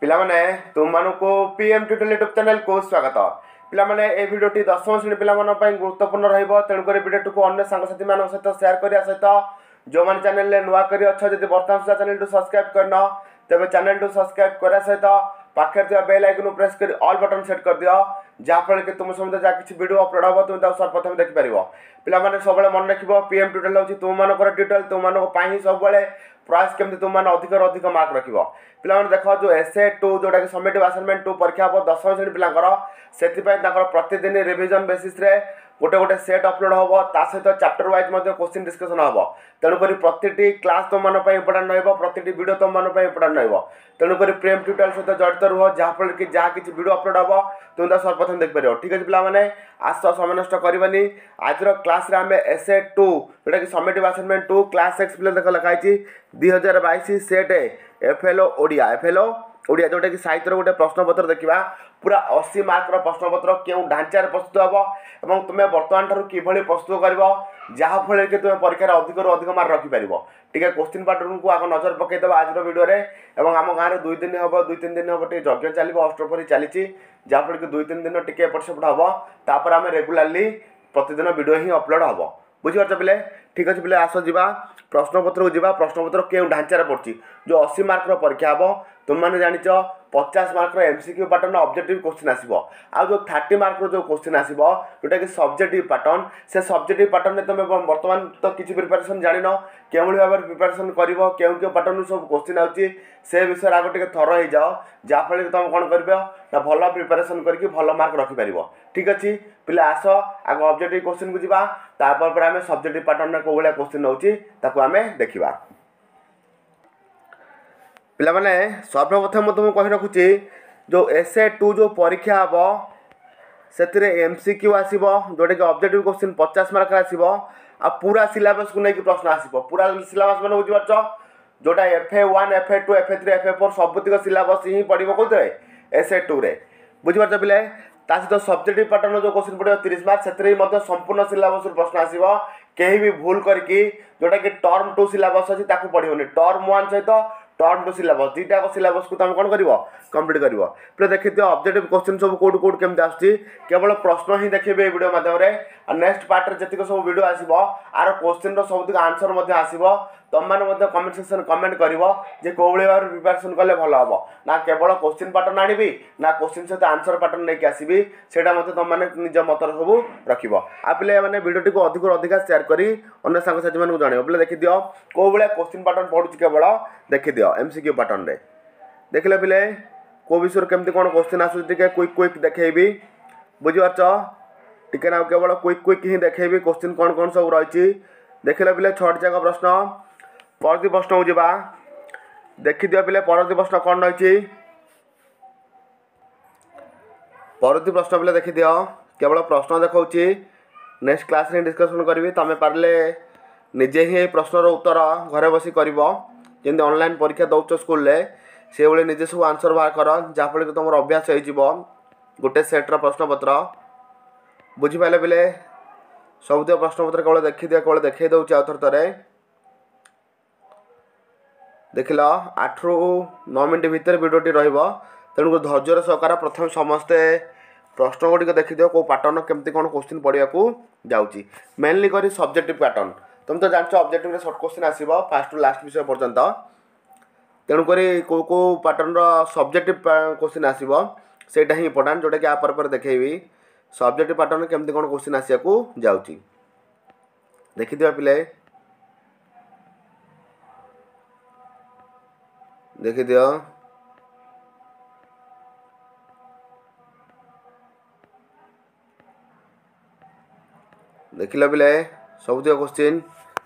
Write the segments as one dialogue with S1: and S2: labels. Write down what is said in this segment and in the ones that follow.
S1: ପିଲାମାନେ, ତୁମମାନଙ୍କୁ PM tutorial YouTube ଚ୍ୟାନେଲକୁ ସ୍ୱାଗତ। ପିଲାମାନେ, ଏ ଭିଡ଼ିଓଟି ଦଶମ ଶ୍ରେଣୀ ପିଲାମାନଙ୍କ ପାଇଁ ଗୁରୁତ୍ୱପୂର୍ଣ୍ଣ ରହିବ। ତେଣୁକରି ଭିଡ଼ିଓଟିକୁ ଅନ୍ୟ ସାଙ୍ଗସାଥିମାନଙ୍କ ସହିତ ସେୟାର କରିବା ସହିତ ଯେଉଁମାନେ ଚ୍ୟାନେଲରେ ନୂଆ କରି ଅଛ, ଯଦି ବର୍ତ୍ତମାନ ସୁଦ୍ଧା ଚ୍ୟାନେଲକୁ ସବସ୍କ୍ରାଇବ୍ କରିନ, ତେବେ ଚ୍ୟାନେଲକୁ ସବସ୍କ୍ରାଇବ୍ କରିବା ସହିତ ପାଖରେ ଥିବା ବେଲ୍ ଆଇକନ୍କୁ ପ୍ରେସ୍ କରି ଅଲ୍ ବଟନ୍ ସେଟ୍ କରିଦିଅ, ଯାହାଫଳରେ କି ତୁମ ସମେତ ଯାହା କିଛି ଭିଡ଼ିଓ ଅପଲୋଡ଼ ହେବ ତୁମେ ତାକୁ ସର୍ବପ୍ରଥମେ ଦେଖିପାରିବ। ପିଲାମାନେ, ସବୁବେଳେ ମନେ ରଖିବ, ପିଏମ୍ ଟ୍ୟୁଟୋରିଆଲ ହେଉଛି ତୁମମାନଙ୍କର ଟ୍ୟୁଟୋରିଆଲ। ତୁମମାନଙ୍କ ପାଇଁ ହିଁ ସବୁବେଳେ ପ୍ରୟାସ କେମିତି ତୁମମାନେ ଅଧିକରୁ ଅଧିକ ମାର୍କ ରଖିବ। ପିଲାମାନେ ଦେଖ, ଯେଉଁ ଏସ୍ ଏ ଟୁ, ଯେଉଁଟାକି ସବମିଟିଭ୍ ଆସାଇନମେଣ୍ଟ ଟୁ ପରୀକ୍ଷା ହେବ ଦଶମ ଶ୍ରେଣୀ ପିଲାଙ୍କର, ସେଥିପାଇଁ ତାଙ୍କର ପ୍ରତିଦିନ ରିଭିଜନ୍ ବେସିସ୍ରେ ଗୋଟେ ଗୋଟେ ସେଟ୍ ଅପଲୋଡ଼ ହେବ। ତା ସହିତ ଚାପ୍ଟର ୱାଇଜ୍ ମଧ୍ୟ କୋଶ୍ଚିନ୍ ଡିସ୍କସନ୍ ହେବ। ତେଣୁକରି ପ୍ରତିଟି କ୍ଲାସ୍ ତୁମମାନଙ୍କ ପାଇଁ ଇମ୍ପୋର୍ଟାଣ୍ଟ ରହିବ, ପ୍ରତିଟି ଭିଡ଼ିଓ ତୁମମାନଙ୍କ ପାଇଁ ଇମ୍ପୋର୍ଟାଣ୍ଟ ରହିବ। ତେଣୁକରି ପ୍ରେମ୍ ଟ୍ୟୁଟୋରିଆଲ ସହିତ ଜଡ଼ିତ ରୁହ, ଯାହାଫଳରେ କି ଯାହା କିଛି ଭିଡ଼ିଓ ଅପଲୋଡ଼ ହେବ ତୁମେ ତାକୁ ସର୍ବପ୍ରଥମେ ଦେଖିପାରିବ। ଠିକ୍ ଅଛି ପିଲାମାନେ, ଆସ, ସମୟ ନଷ୍ଟ କରିବାନି। ଆଜିର କ୍ଲାସ୍ରେ ଆମେ ଏସ୍ ଏ ଟୁ, ଯେଉଁଟାକି ସବମିଟିଭ୍ ଆସାଇନମେଣ୍ଟ ଟୁ, କ୍ଲାସ୍ 6। ପିଲା ଦେଖ, ଲେଖା ହେଇଛି 2022 set F L O Odia, F L O Odia, ଯେଉଁଟାକି ସାହିତ୍ୟର ଗୋଟେ ପ୍ରଶ୍ନପତ୍ର ଦେଖିବା। ପୁରା 80 ମାର୍କର ପ୍ରଶ୍ନପତ୍ର କେଉଁ ଢାଞ୍ଚାରେ ପ୍ରସ୍ତୁତ ହେବ ଏବଂ ତୁମେ ବର୍ତ୍ତମାନ ଠାରୁ କିଭଳି ପ୍ରସ୍ତୁତ କରିବ, ଯାହାଫଳରେ କି ତୁମେ ପରୀକ୍ଷାରେ ଅଧିକରୁ ଅଧିକ ମାର୍କ ରଖିପାରିବ। ଟିକେ କୋଶ୍ଚିନ୍ ପାଟର୍ନକୁ ଆଗ ନଜର ପକାଇଦେବା ଆଜିର ଭିଡ଼ିଓରେ। ଏବଂ ଆମ ଗାଁରେ 2 ଦିନ ହେବ, 2 3 ଦିନ ହେବ ଟିକେ ଯଜ୍ଞ ଚାଲିବ, ଅଷ୍ଟପ୍ରହରୀ ଚାଲିଛି, ଯାହାଫଳରେ କି 2 3 ଦିନ ଟିକେ ଏପଟ ସେପଟ ହେବ। ତାପରେ ଆମେ ରେଗୁଲାରଲି ପ୍ରତିଦିନ ଭିଡ଼ିଓ ହିଁ ଅପଲୋଡ଼ ହେବ। ବୁଝିପାରୁଛ ପିଲେ? ଠିକ୍ ଅଛି ପିଲେ, ଆସ ଯିବା ପ୍ରଶ୍ନପତ୍ରକୁ ଯିବା। ପ୍ରଶ୍ନପତ୍ର କେଉଁ ଢାଞ୍ଚାରେ ପଡ଼ୁଛି? ଯେଉଁ 80 ମାର୍କର ପରୀକ୍ଷା ହେବ, ତୁମେମାନେ ଜାଣିଛ, 50 ମାର୍କର M C Q pattern objective question ଆସିବ। ଆଉ ଯେଉଁ 30 ମାର୍କର ଯେଉଁ କୋଶ୍ଚିନ୍ ଆସିବ, ଯେଉଁଟାକି ସବଜେକ୍ଟିଭ୍ ପାଟର୍ନ, ସେ ସବଜେକ୍ଟିଭ୍ ପାଟର୍ନରେ ତୁମେ ବର୍ତ୍ତମାନ ତ କିଛି ପ୍ରିପାରେସନ୍ ଜାଣିନ। କେଉଁଭଳି ଭାବରେ ପ୍ରିପାରେସନ୍ କରିବ, କେଉଁ କେଉଁ ପାଟର୍ନରୁ ସବୁ କୋଶ୍ଚିନ୍ ଆସୁଛି, ସେ ବିଷୟରେ ଆଗ ଟିକେ ଥର ହେଇଯାଅ, ଯାହାଫଳରେ କି ତୁମେ କ'ଣ କରିବ ନା ଭଲ ପ୍ରିପାରେସନ୍ କରିକି ଭଲ ମାର୍କ ରଖିପାରିବ। ଠିକ୍ ଅଛି ପିଲା, ଆସ ଆଗ ଅବଜେକ୍ଟିଭ୍ କୋଶ୍ଚିନ୍କୁ ଯିବା, ତାପରେ ପରେ ଆମେ ସବଜେକ୍ଟିଭ୍ ପାଟର୍ନରେ କେଉଁ ଭଳିଆ କୋଶ୍ଚିନ୍ ରହୁଛି ତାକୁ ଆମେ ଦେଖିବା। ପିଲାମାନେ, ସର୍ବପ୍ରଥମେ ମୁଁ ତୁମକୁ କହି ରଖୁଛି, ଯେଉଁ ଏସ୍ ଏ ଟୁ ଯେଉଁ ପରୀକ୍ଷା ହେବ, ସେଥିରେ ଏମ୍ ସି କ୍ୟୁ ଆସିବ, ଯେଉଁଟାକି ଅବଜେକ୍ଟିଭ୍ କୋଶ୍ଚିନ୍ 50 ମାର୍କର ଆସିବ। ଆଉ ପୁରା ସିଲାବସ୍କୁ ନେଇକି ପ୍ରଶ୍ନ ଆସିବ। ପୁରା ସିଲାବସ୍ ମାନେ ବୁଝିପାରୁଛ? ଯେଉଁଟା F A 1, F A 2, F A 3, F A 4, ସବୁତିକ syllabus ହିଁ ପଡ଼ିବ। କେଉଁଥିରେ? ଏସ୍ ଏ ଟୁରେ। ବୁଝିପାରୁଛ ପିଲେ? ତା ସହିତ ସବଜେକ୍ଟିଭ୍ ପାଟର୍ନ ଯେଉଁ କୋଶ୍ଚିନ୍ ପଡ଼ିବ 30 ମାର୍କ, ସେଥିରେ ବି ମଧ୍ୟ ସମ୍ପୂର୍ଣ୍ଣ ସିଲାବସ୍ରୁ ପ୍ରଶ୍ନ ଆସିବ। କେହି ବି ଭୁଲ କରିକି ଯେଉଁଟାକି ଟର୍ମ 2 ସିଲାବସ୍ ଅଛି ତାକୁ ପଢ଼ିବନି। ଟର୍ମ 1 ସହିତ ଟର୍ମ 2 ସିଲାବସ୍, ଦୁଇଟାକ ସିଲାବସ୍କୁ ତୁମେ କ'ଣ କରିବ? କମ୍ପ୍ଲିଟ୍ କରିବ। ପିଲା ଦେଖିଦିଅ, ଅବଜେକ୍ଟିଭ୍ କୋଶ୍ଚିନ୍ ସବୁ କେଉଁଠୁ କେଉଁଠୁ କେମିତି ଆସୁଛି, କେବଳ ପ୍ରଶ୍ନ ହିଁ ଦେଖିବେ ଏଇ ଭିଡ଼ିଓ ମାଧ୍ୟମରେ। ଆଉ ନେକ୍ସଟ ପାର୍ଟରେ ଯେତିକ ସବୁ ଭିଡ଼ିଓ ଆସିବ, ଆର କୋଶ୍ଚିନ୍ର ସବୁତିକ ଆନ୍ସର୍ ମଧ୍ୟ ଆସିବ। ତୁମମାନେ ମଧ୍ୟ କମେଣ୍ଟ ସେକ୍ସନ୍ କମେଣ୍ଟ କରିବ ଯେ କେଉଁଭଳି ଭାବରେ ପ୍ରିପାରେସନ୍ କଲେ ଭଲ ହେବ, ନା କେବଳ କୋଶ୍ଚିନ୍ ପାଟର୍ନ ଆଣିବି ନା କୋଶ୍ଚିନ୍ ସହିତ ଆନ୍ସର୍ ପାଟର୍ନ ନେଇକି ଆସିବି, ସେଇଟା ମଧ୍ୟ ତୁମମାନେ ନିଜ ମତରେ ସବୁ ରଖିବ। ଆଉ ପିଲାମାନେ, ଭିଡ଼ିଓଟିକୁ ଅଧିକରୁ ଅଧିକା ସେୟାର କରି ଅନ୍ୟ ସାଙ୍ଗସାଥିମାନଙ୍କୁ ଜଣାଇବ। ପିଲା ଦେଖିଦିଅ, କେଉଁ ଭଳିଆ କୋଶ୍ଚିନ୍ ପାଟର୍ନ ପଡ଼ୁଛି କେବଳ ଦେଖିଦିଅ। ଏମ୍ ସି କ୍ୟୁ ପାଟର୍ନରେ ଦେଖିଲେ ପିଲେ, କେଉଁ ବିଷୟରେ କେମିତି କ'ଣ କୋଶ୍ଚିନ୍ ଆସୁଛି ଟିକେ କୁଇକ୍ କୁଇକ୍ ଦେଖେଇବି। ବୁଝିପାରୁଛ? ଟିକେ ନା, କେବଳ କୁଇକ୍ କୁଇକ୍ ହିଁ ଦେଖେଇବି କୋଶ୍ଚିନ୍ କ'ଣ କ'ଣ ସବୁ ରହିଛି। ଦେଖିଲେ ପିଲେ, 6ଟି ଯାକ ପ୍ରଶ୍ନ। ପରବର୍ତ୍ତୀ ପ୍ରଶ୍ନକୁ ଯିବା। ଦେଖିଦିଅ ପିଲେ, ପରବର୍ତ୍ତୀ ପ୍ରଶ୍ନ କ'ଣ ରହିଛି। ପରବର୍ତ୍ତୀ ପ୍ରଶ୍ନ ପିଲେ ଦେଖିଦିଅ, କେବଳ ପ୍ରଶ୍ନ ଦେଖାଉଛି, ନେକ୍ସଟ କ୍ଲାସ୍ରେ ଡିସ୍କସନ୍ କରିବି। ତୁମେ ପାରିଲେ ନିଜେ ହିଁ ଏଇ ପ୍ରଶ୍ନର ଉତ୍ତର ଘରେ ବସି କରିବ। ଯେମିତି ଅନଲାଇନ୍ ପରୀକ୍ଷା ଦେଉଛ ସ୍କୁଲରେ, ସେଇଭଳି ନିଜେ ସବୁ ଆନ୍ସର୍ ବାହାର କର, ଯାହାଫଳରେ କି ତୁମର ଅଭ୍ୟାସ ହେଇଯିବ ଗୋଟେ ସେଟ୍ର ପ୍ରଶ୍ନପତ୍ର। ବୁଝିପାରିଲେ ପିଲେ? ସବୁତିକ ପ୍ରଶ୍ନପତ୍ର କେବଳ ଦେଖିଦିଅ, କେବଳ ଦେଖେଇ ଦେଉଛି ଆଉ ଥରେ ଥରେ। ଦେଖିଲ, 8ରୁ 9 ମିନିଟ୍ ଭିତରେ ଭିଡ଼ିଓଟି ରହିବ, ତେଣୁ ଧୈର୍ଯ୍ୟର ସହକାରେ ପ୍ରଥମେ ସମସ୍ତେ ପ୍ରଶ୍ନ ଗୁଡ଼ିକ ଦେଖିଦିଅ, କେଉଁ ପାଟର୍ନ କେମିତି କ'ଣ କୋଶ୍ଚିନ୍ ପଡ଼ିବାକୁ ଯାଉଛି। ମେନଲି କରି ସବଜେକ୍ଟିଭ୍ ପାଟର୍ନ, ତୁମେ ତ ଜାଣିଛ, ଅବଜେକ୍ଟିଭରେ ସର୍ଟ କୋଶ୍ଚିନ୍ ଆସିବ ଫାଷ୍ଟରୁ ଲାଷ୍ଟ ବିଷୟ ପର୍ଯ୍ୟନ୍ତ। ତେଣୁକରି କେଉଁ କେଉଁ ପାଟର୍ନର ସବଜେକ୍ଟିଭ୍ କୋଶ୍ଚିନ୍ ଆସିବ ସେଇଟା ହିଁ ଇମ୍ପୋର୍ଟାଣ୍ଟ, ଯେଉଁଟାକି ଆ ପରେ ପରେ ଦେଖେଇବି ସବଜେକ୍ଟିଭ୍ ପାଟର୍ନ କେମିତି କ'ଣ କୋଶ୍ଚିନ୍ ଆସିବାକୁ ଯାଉଛି। ଦେଖିଦିଅ ପିଲେ, ଦେଖିଦିଅ। ଦେଖିଲ ପିଲେ ସବୁତିକ କୋଶ୍ଚିନ୍?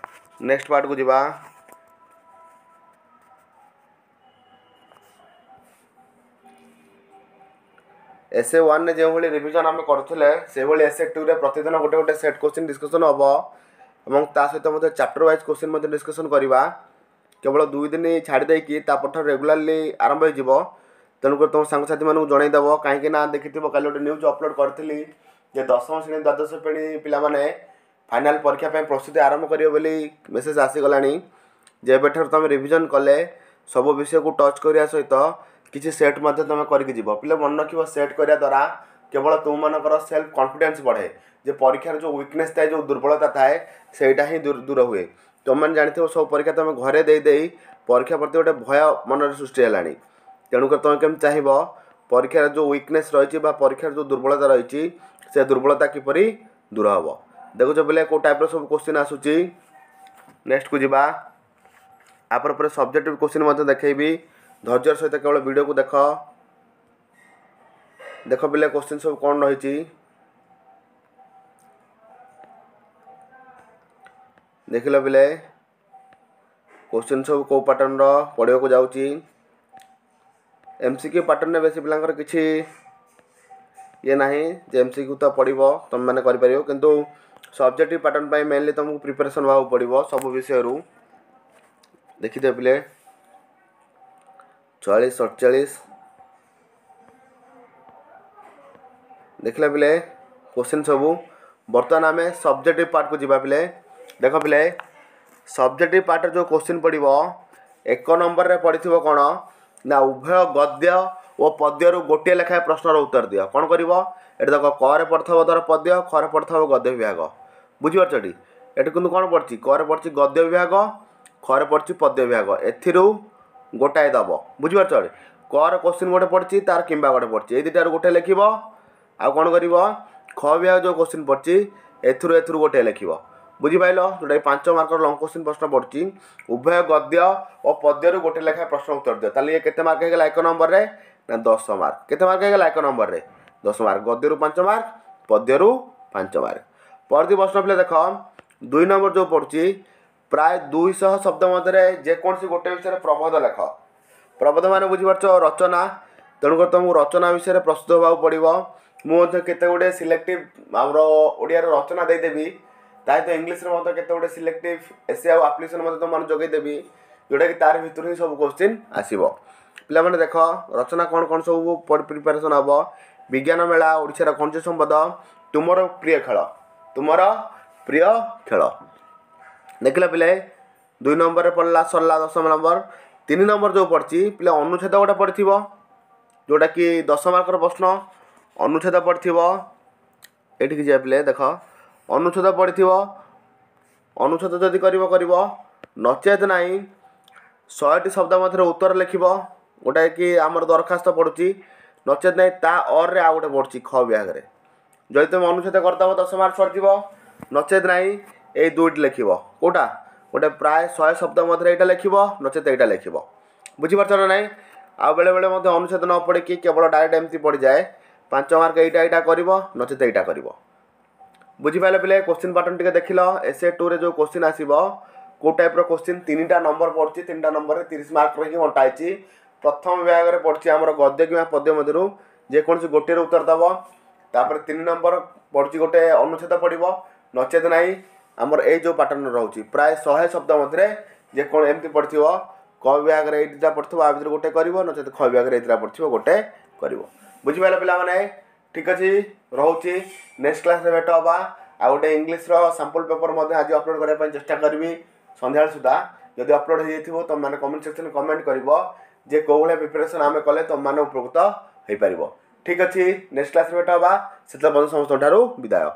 S1: ନେକ୍ସଟ ପାର୍ଟକୁ ଯିବା। ଏସ୍ ଏ 1ରେ ଯେଉଁଭଳି ରିଭିଜନ୍ ଆମେ କରୁଥିଲେ, ସେଭଳି ଏସ୍ ଏ 2ରେ ପ୍ରତିଦିନ ଗୋଟେ ଗୋଟେ ସେଟ୍ କୋଶ୍ଚିନ୍ ଡିସ୍କସନ୍ ହେବ ଏବଂ ତା ସହିତ ମଧ୍ୟ ଚାପ୍ଟର ୱାଇଜ୍ କୋଶ୍ଚିନ୍ ମଧ୍ୟ ଡିସ୍କସନ୍ କରିବା। କେବଳ 2 ଦିନ ଛାଡ଼ି ଦେଇକି ତାପରଠାରୁ ରେଗୁଲାରଲି ଆରମ୍ଭ ହେଇଯିବ। ତେଣୁକରି ତୁମ ସାଙ୍ଗସାଥିମାନଙ୍କୁ ଜଣାଇଦେବ, କାହିଁକି ନା ଦେଖିଥିବ, କାଲି ଗୋଟେ ନ୍ୟୁଜ୍ ଅପଲୋଡ଼ କରିଥିଲି ଯେ ଦଶମ ଶ୍ରେଣୀ, ଦ୍ୱାଦଶ ଶ୍ରେଣୀ ପିଲାମାନେ ଫାଇନାଲ୍ ପରୀକ୍ଷା ପାଇଁ ପ୍ରସ୍ତୁତି ଆରମ୍ଭ କରିବେ ବୋଲି ମେସେଜ୍ ଆସିଗଲାଣି। ଯେବେଠାରୁ ତୁମେ ରିଭିଜନ୍ କଲେ ସବୁ ବିଷୟକୁ ଟଚ୍ କରିବା ସହିତ କିଛି ସେଟ୍ ମଧ୍ୟ ତୁମେ କରିକି ଯିବ। ପିଲା ମନେ ରଖିବ, ସେଟ୍ କରିବା ଦ୍ୱାରା କେବଳ ତୁମମାନଙ୍କର ସେଲ୍ଫ କନଫିଡେନ୍ସ ବଢ଼େ, ଯେ ପରୀକ୍ଷାର ଯେଉଁ ୱିକନେସ୍ ଥାଏ, ଯେଉଁ ଦୁର୍ବଳତା ଥାଏ, ସେଇଟା ହିଁ ଦୂର ହୁଏ। ତୁମେମାନେ ଜାଣିଥିବ, ସବୁ ପରୀକ୍ଷା ତୁମେ ଘରେ ଦେଇ ଦେଇ ପରୀକ୍ଷା ପ୍ରତି ଗୋଟେ ଭୟ ମନରେ ସୃଷ୍ଟି ହେଲାଣି। ତେଣୁକରି ତୁମେ କେମିତି ଚାହିଁବ ପରୀକ୍ଷାର ଯେଉଁ ୱିକନେସ୍ ରହିଛି ବା ପରୀକ୍ଷାର ଯେଉଁ ଦୁର୍ବଳତା ରହିଛି, ସେ ଦୁର୍ବଳତା କିପରି ଦୂର ହେବ। ଦେଖୁଛ ପିଲେ, କେଉଁ ଟାଇପ୍ର ସବୁ କୋଶ୍ଚିନ୍ ଆସୁଛି। ନେକ୍ସଟକୁ ଯିବା। ତାପରେ ପରେ ସବଜେକ୍ଟିଭ୍ କୋଶ୍ଚିନ୍ ମଧ୍ୟ ଦେଖେଇବି। ଧୈର୍ଯ୍ୟର ସହିତ କେବଳ ଭିଡ଼ିଓକୁ ଦେଖ। ଦେଖ ପିଲେ, କୋଶ୍ଚିନ୍ ସବୁ କ'ଣ ରହିଛି। ଦେଖିଲ ପିଲେ, କୋଶ୍ଚିନ୍ ସବୁ କେଉଁ ପାଟର୍ନର ପଢ଼ିବାକୁ ଯାଉଛି। ଏମ୍ ସି କ୍ୟୁ ପାଟର୍ନରେ ବେଶୀ ପିଲାଙ୍କର କିଛି ଇଏ ନାହିଁ ଯେ ଏମ୍ ସି କ୍ୟୁ ତ ପଡ଼ିବ, ତୁମେମାନେ କରିପାରିବ, କିନ୍ତୁ ସବଜେକ୍ଟିଭ୍ ପାଟର୍ନ ପାଇଁ ମେନଲି ତୁମକୁ ପ୍ରିପାରେସନ୍ ହେବାକୁ ପଡ଼ିବ ସବୁ ବିଷୟରୁ। ଦେଖିଦିଅ ପିଲେ, 46, 47। ଦେଖିଲା ପିଲେ କୋଶ୍ଚିନ୍ ସବୁ। ବର୍ତ୍ତମାନ ଆମେ ସବଜେକ୍ଟିଭ୍ ପାର୍ଟକୁ ଯିବା ପିଲେ। ଦେଖ ପିଲେ, ସବଜେକ୍ଟିଭ୍ ପାର୍ଟରେ ଯେଉଁ କୋଶ୍ଚିନ୍ ପଡ଼ିବ, 1 ନମ୍ବରରେ ପଡ଼ିଥିବ କ'ଣ ନା ଉଭୟ ଗଦ୍ୟ ଓ ପଦ୍ୟରୁ ଗୋଟିଏ ଲେଖାଏଁ ପ୍ରଶ୍ନର ଉତ୍ତର ଦିଅ। କ'ଣ କରିବ ଏଠି ଦେଖ, କରେ ପଡ଼ିଥିବ ଧର ପଦ୍ୟ, ଖରେ ପଡ଼ିଥିବ ଗଦ୍ୟ ବିଭାଗ। ବୁଝିପାରୁଛ ଏଠି? ଏଠି କିନ୍ତୁ କ'ଣ ପଡ଼ିଛି? କରେ ପଡ଼ିଛି ଗଦ୍ୟ ବିଭାଗ, ଖରେ ପଡ଼ିଛି ପଦ୍ୟ ବିଭାଗ। ଏଥିରୁ ଗୋଟାଏ ଦେବ। ବୁଝିପାରୁଛ? କର କୋଶ୍ଚିନ୍ ଗୋଟେ ପଡ଼ିଛି ତାର କିମ୍ବା ଗୋଟେ ପଡ଼ିଛି, ଏଇ ଦୁଇଟାରୁ ଗୋଟେ ଲେଖିବ। ଆଉ କ'ଣ କରିବ? ଖ ବିଭାଗ ଯେଉଁ କୋଶ୍ଚିନ୍ ପଡ଼ିଛି, ଏଥିରୁ ଗୋଟେ ଲେଖିବ। ବୁଝିପାରିଲ? ଯେଉଁଟାକି 5 ମାର୍କର ଲଙ୍ଗ କୋଶ୍ଚିନ୍ ପ୍ରଶ୍ନ ପଡ଼ୁଛି, ଉଭୟ ଗଦ୍ୟ ଓ ପଦ୍ୟରୁ ଗୋଟେ ଲେଖାଏଁ ପ୍ରଶ୍ନ ଉତ୍ତର ଦିଅ। ତାହେଲେ ଇଏ କେତେ ମାର୍କ ହେଇଗଲା 1 ନମ୍ବରରେ? ନା 10 ମାର୍କ। କେତେ ମାର୍କ ହେଇଗଲା 1 ନମ୍ବରରେ? 10 ମାର୍କ। ଗଦ୍ୟରୁ 5 ମାର୍କ, ପଦ୍ୟରୁ 5 ମାର୍କ। ପରବର୍ତ୍ତୀ ପ୍ରଶ୍ନ ପିଲା ଦେଖ, 2 ନମ୍ବର ଯେଉଁ ପଡ଼ୁଛି, ପ୍ରାୟ 200 ଶବ୍ଦ ମଧ୍ୟରେ ଯେକୌଣସି ଗୋଟେ ବିଷୟରେ ପ୍ରବନ୍ଧ ଲେଖ। ପ୍ରବନ୍ଧ ମାନେ ବୁଝିପାରୁଛ, ରଚନା। ତେଣୁକରି ତୁମକୁ ରଚନା ବିଷୟରେ ପ୍ରସ୍ତୁତ ହେବାକୁ ପଡ଼ିବ। ମୁଁ ମଧ୍ୟ କେତେ ଗୁଡ଼ିଏ ସିଲେକ୍ଟିଭ୍ ଆମର ଓଡ଼ିଆର ରଚନା ଦେଇଦେବି, ତା ସହିତ ଇଂଲିଶରେ ମଧ୍ୟ କେତେ ଗୁଡ଼ିଏ ସିଲେକ୍ଟିଭ୍ ଏସେ ଆଉ ଆପ୍ଲିକେସନ୍ ମଧ୍ୟ ତୁମମାନଙ୍କୁ ଯୋଗାଇଦେବି, ଯେଉଁଟାକି ତାର ଭିତରୁ ହିଁ ସବୁ କୋଶ୍ଚିନ୍ ଆସିବ। ପିଲାମାନେ ଦେଖ, ରଚନା କ'ଣ କ'ଣ ସବୁ ପ୍ରିପାରେସନ୍ ହେବ। ବିଜ୍ଞାନ ମେଳା, ଓଡ଼ିଶାର ଖଣିଜ ସମ୍ପଦ, ତୁମର ପ୍ରିୟ ଖେଳ। ତୁମର ପ୍ରିୟ ଖେଳ। ଦେଖିଲ ପିଲେ, 2 ନମ୍ବରରେ ପଡ଼ିଲା, ସରିଲା 10 ନମ୍ବର। 3 ନମ୍ବର ଯେଉଁ ପଡ଼ିଛି ପିଲା, ଅନୁଚ୍ଛେଦ ଗୋଟେ ପଡ଼ିଥିବ, ଯେଉଁଟାକି 10 ମାର୍କର ପ୍ରଶ୍ନ। ଅନୁଚ୍ଛେଦ ପଡ଼ିଥିବ। ଏଠିକି ଯିବା ପିଲେ। ଦେଖ, ଅନୁଚ୍ଛେଦ ପଡ଼ିଥିବ। ଅନୁଚ୍ଛେଦ ଯଦି କରିବ କରିବ, ନଚେତ ନାହିଁ 100ଟି ଶବ୍ଦ ମଧ୍ୟରେ ଉତ୍ତର ଲେଖିବ, ଗୋଟାଏ କି ଆମର ଦରଖାସ୍ତ ପଡ଼ୁଛି, ନଚେତ ନାହିଁ ତା ଅର୍ରେ ଆଉ ଗୋଟେ ପଡ଼ୁଛି ଖ ବିଭାଗରେ। ଯଦି ତୁମେ ଅନୁଚ୍ଛେଦ କରିଦେବ 10 ମାର୍କ ସରିଯିବ, ନଚେତ ନାହିଁ ଏଇ ଦୁଇଟି ଲେଖିବ। କେଉଁଟା ଗୋଟେ? ପ୍ରାୟ 100 ଶବ୍ଦ ମଧ୍ୟରେ ଏଇଟା ଲେଖିବ, ନଚେତ ଏଇଟା ଲେଖିବ। ବୁଝିପାରୁଛ ନା ନାହିଁ? ଆଉ ବେଳେବେଳେ ମଧ୍ୟ ଅନୁଚ୍ଛେଦ ନ ପଡ଼ିକି କେବଳ ଡାଇରେକ୍ଟ ଏମିତି ପଡ଼ିଯାଏ। 5 ମାର୍କ ଏଇଟା କରିବ, ନଚେତ ଏଇଟା କରିବ। ବୁଝିପାରିଲେ ପିଲେ? କୋଶ୍ଚିନ୍ ପାଟର୍ନ ଟିକେ ଦେଖିଲ। ଏସ୍ ଏ ଟୁରେ ଯେଉଁ କୋଶ୍ଚିନ୍ ଆସିବ, କେଉଁ ଟାଇପ୍ର କୋଶ୍ଚିନ୍, 3ଟା ନମ୍ବର ପଡ଼ୁଛି, 3ଟା ନମ୍ବରରେ 30 ମାର୍କର ହିଁ ବଣ୍ଟା ହେଇଛି। ପ୍ରଥମ ବିଭାଗରେ ପଡ଼ୁଛି ଆମର ଗଦ୍ୟ କିମ୍ବା ପଦ୍ୟ ମଧ୍ୟରୁ ଯେକୌଣସି ଗୋଟିଏର ଉତ୍ତର ଦେବ। ତାପରେ 3 ନମ୍ବର ପଡ଼ୁଛି ଗୋଟେ ଅନୁଚ୍ଛେଦ ପଡ଼ିବ, ନଚେତ ନାହିଁ ଆମର ଏଇ ଯେଉଁ ପାଟର୍ନ ରହୁଛି, ପ୍ରାୟ 100 ଶବ୍ଦ ମଧ୍ୟରେ ଯେକୌଣ ଏମିତି ପଡ଼ିଥିବ। କ ବିଭାଗରେ ଏଇ ଦୁଇଟା ପଡ଼ିଥିବ, ଆ ଭିତରୁ ଗୋଟେ କରିବ, ନଚେତ ଖ ବିଭାଗରେ ଏଇ ଦୁଇଟା ପଡ଼ିଥିବ, ଗୋଟେ କରିବ। ବୁଝିପାରିଲ ପିଲାମାନେ? ଠିକ୍ ଅଛି, ରହୁଛି। ନେକ୍ସଟ କ୍ଲାସ୍ରେ ଭେଟ ହେବା। ଆଉ ଗୋଟେ ଇଂଲିଶର ସାମ୍ପଲ୍ ପେପର୍ ମଧ୍ୟ ଆଜି ଅପଲୋଡ଼ କରିବା ପାଇଁ ଚେଷ୍ଟା କରିବି ସନ୍ଧ୍ୟାବେଳ ସୁଦ୍ଧା। ଯଦି ଅପଲୋଡ଼ ହେଇଯାଇଥିବ, ତୁମେମାନେ କମେଣ୍ଟ ସେକ୍ସନରେ କମେଣ୍ଟ କରିବ ଯେ କେଉଁ ଭଳିଆ ପ୍ରିପାରେସନ୍ ଆମେ କଲେ ତୁମମାନେ ଉପକୃତ ହେଇପାରିବ। ଠିକ୍ ଅଛି, ନେକ୍ସଟ କ୍ଲାସ୍ରେ ଭେଟ ହେବା। ସେତେବେଳେ ପର୍ଯ୍ୟନ୍ତ ସମସ୍ତଙ୍କ ଠାରୁ ବିଦାୟ।